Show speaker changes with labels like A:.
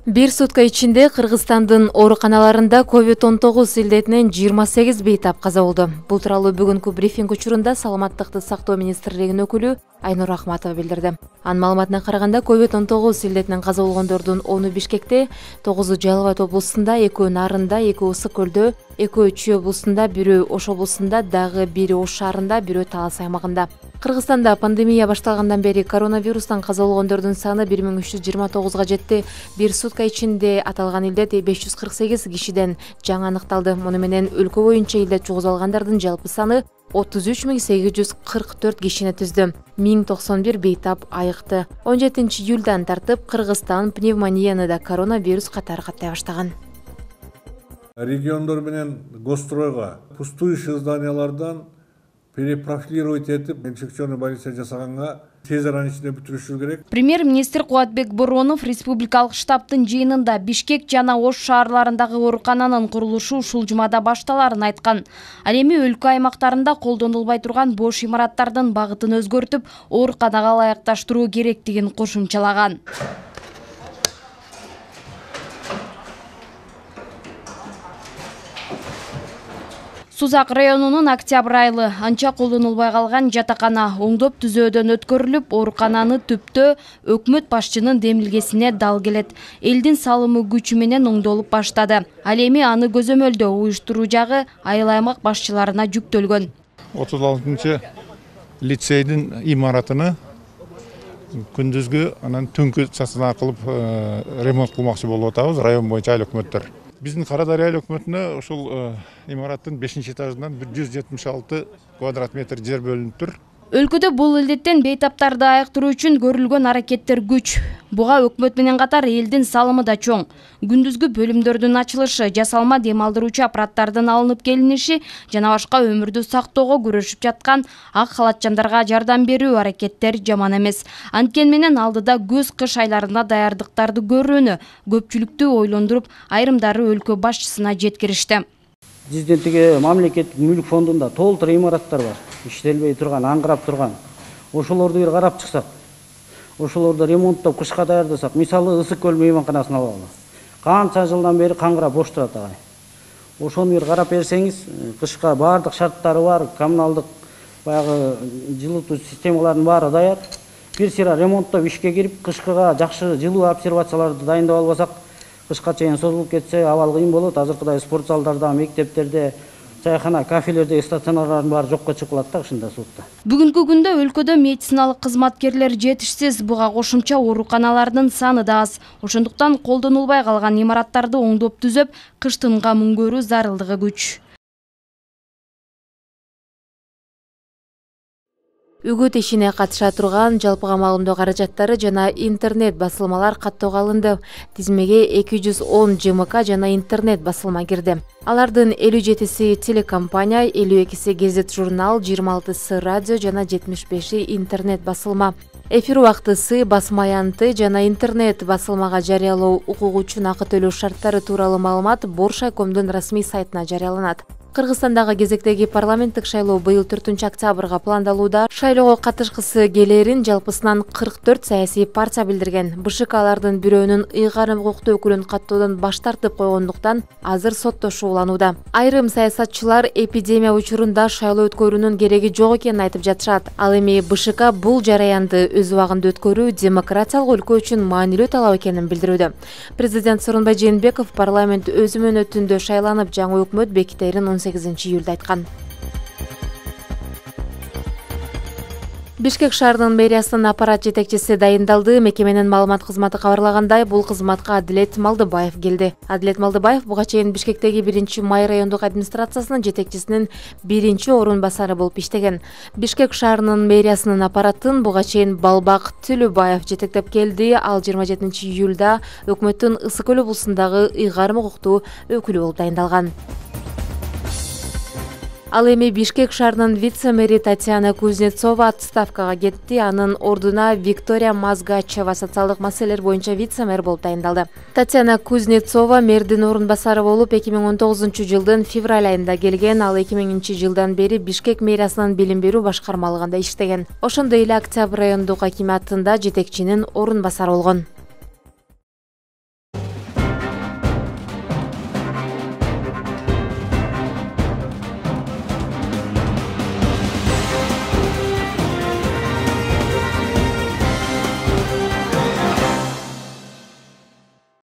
A: Bir сутка ичинде Кыргызстандын ооруканаларында COVID-19 илдетинен 28 бейтап каза болду. Бул тууралуу бүгүнкү брифинг учурунда Саламаттыкты сактоо министрлигинин өкүлү Айнур Ахматова билдирди. Анын маалыматына караганда COVID-19 илдетинен каза болгондордун 10-у Бишкекте, 9-у Жалал Абад облусунда, 2-өө Нарында, 2-өө Ысык көлдө, 2-өө Чүй облусунда, 1-өө Ош облусунда, дагы 1-өө Ош шаарында, 1-өө Талас аймагында. Кыргызстанда пандемия башталгандан бери коронавирустан каза болгондордун саны 1329га жетти. Bir сутка ичинде аталган илдет 548 кишиден жаңы аныкталды. Муну менен өлкө боюнча илдет жугузуп алгандардын жалпы саны 33844 кишини түздү. 1091 бейтап айыкты. 17 июлдан тартып Кыргызстан пневмонияны да коронавирус катары каттай баштаган.
B: Региондор менен гостройго пустующий зданиялардан перепрофилировать этип, инфекционный больница жасаганга тез аранын ичинде бүтүрүшү керек.
C: Премьер-министр Кубатбек Боронов республикалык штабтын жыйынында Бишкек жана Ош шаарларындагы оорукананын курулушу ушул жумада башталарын айткан. Ал эми өлкө аймактарында колдонулбай турган бош имараттардын багытын өзгөртүп, ооруканага ылайыкташтыруу керектигин кошумчалаган. Сузак районунун Октябрь айылы анча колдонулбай калган жатакана оңдоп түзөөдөн өткөрүлүп, оорукананы түптө өкмөт башчынын демилгесине дал келет. Элдин салымы күчү менен оңдолуп баштады. Ал эми аны көзөмөлдөө уюштуруу жагы айыл аймак башчыларына жүктөлгөн.
D: 36 лицейдин имаратыны күндүзгү анан түнкү часына кылып ремонт кылмакчы болуп атабыз, район боюнча айыл өкмөттөр. Биздин Кара Дарыя айыл өкмөтүнө ушул имараттын 5-этажынан 176 квадрат метр жер бөлүнүп тур.
C: Өлкөдө бул илдеттен бейтаптарды айыктыруу үчүн көрүлгөн аракеттер күч. Буга өкмөт менен катар элдин салымы да чоң. Күндүзгү бөлүмдөрдүн ачылышы, жасалма дем алдыруучу аппараттардын алынып келиниши жана башка өмүрдү сактоого күрөшүп жаткан ак халатчандарга жардам берүү аракеттер жаман эмес. Анткени менен алдыда көз кыш айларына даярдыктарды көрүүнү көпчүлүктү ойлондуруп, айрымдары өлкө башчысына жеткиришти.
E: Биздин тиги мамлекеттик мүлк фондунда толтур имараттар бар. Иштелбей турган, аңгырап турган. Ошолорду бир карап чыксак, ошолорду ремонттоп кышка даярдасак, мисалы Ысык көл мейманканасын алалы. Канча жылдан бери каңгырап бош турат агай. Ошону бир карап берсеңиз, кышка баардык шарттары бар, коммуналдык баягы жылытуу системаларынын баары даяр. Бир сыйра ремонттоп ишке кирип, кышкыга жакшы жылуу обсервацияларды дайындап албасак, кышка чейин созулуп кетсе абал кыйын болот. Азыркыдай спорт залдарда, мектептерде, чайхана, кафелерде стационарлардын баары жокко чыгып калат да ушундай суутта.
C: Бүгүнкү күндө өлкөдө медициналык кызматкерлер жетишсиз, буга кошумча ооруканалардын саны да аз. Ошондуктан колдонулбай калган имараттарды оңдоп түзөп, кыштынга мүнгөрүү зарылдыгы күч.
A: Үгүт ишине катыша турган жалпыга маалымдоо каражаттары жана интернет басылмалар каттоого алынды. Тизмеге 210 ЖМК жана интернет басылма кирди. Алардын 57си телекомпания, 52си гезит журнал, 26сы радио жана 75и интернет басылма. Эфир убактысы, басма аянты жана интернет басылмага жарыялоо укугу үчүн акы төлөө шарттары тууралуу маалымат Боршайкомдун расмий сайтына жарыяланат. Кыргызстандагы кезектеги парламенттик шайлоо быйыл 4-октябрга пландалууда. Шайлоого катышкысы келерин жалпысынан 44 саясий партия билдирген. БШК алардын бирөөнүн ыйгарым укуктуу өкүлүн каттоодон баш тартып койгондуктан азыр соттошууланууда. Айрым саясатчылар эпидемия учурунда шайлоо өткөрүүнүн кереги жок экенин айтып жатышат. Ал эми БШК бул жараянды өз убагында өткөрүү демократиялык өлкө үчүн маанилүү талап экенин билдирүүдө. Президент Сооронбай Жээнбеков парламент өз мөөнөтүндө шайланып жаңы өкмөт бекитерин 18 июлда айткан. Бишкек шаарынын мэриясынын аппарат жетекчиси дайындалды. Мекеменин маалымат кызматы кабарлагандай, бул кызматка Адилет Малдыбаев келди. Адилет Малдыбаев буга чейин Бишкектеги 1-май райондук администрациясынын жетекчисинин 1-орун басары болуп иштеген. Бишкек шаарынын мэриясынын аппаратын буга чейин Балбак Түлүбаев жетектеп келди. Ал 27 июлда өкмөттүн Ысык көл облусундагы ыйгарым укуктуу өкүлү болуп дайындалган. Ал эми Бишкек шаарынын вице-мэри Татьяна Кузнецова отставкага кетти. Анын ордуна Виктория Мазгачева социалдык маселелер боюнча вице-мэр болуп дайындалды. Татьяна Кузнецова мэрдин орун басары болуп 2019-жылдын февраль айында келген. Ал 2000-жылдан бери Бишкек мэриясынын билим берүү башкармалыгында иштеген. Ошондой эле Октябрь райондук акимиатында жетекчинин орун басары болгон.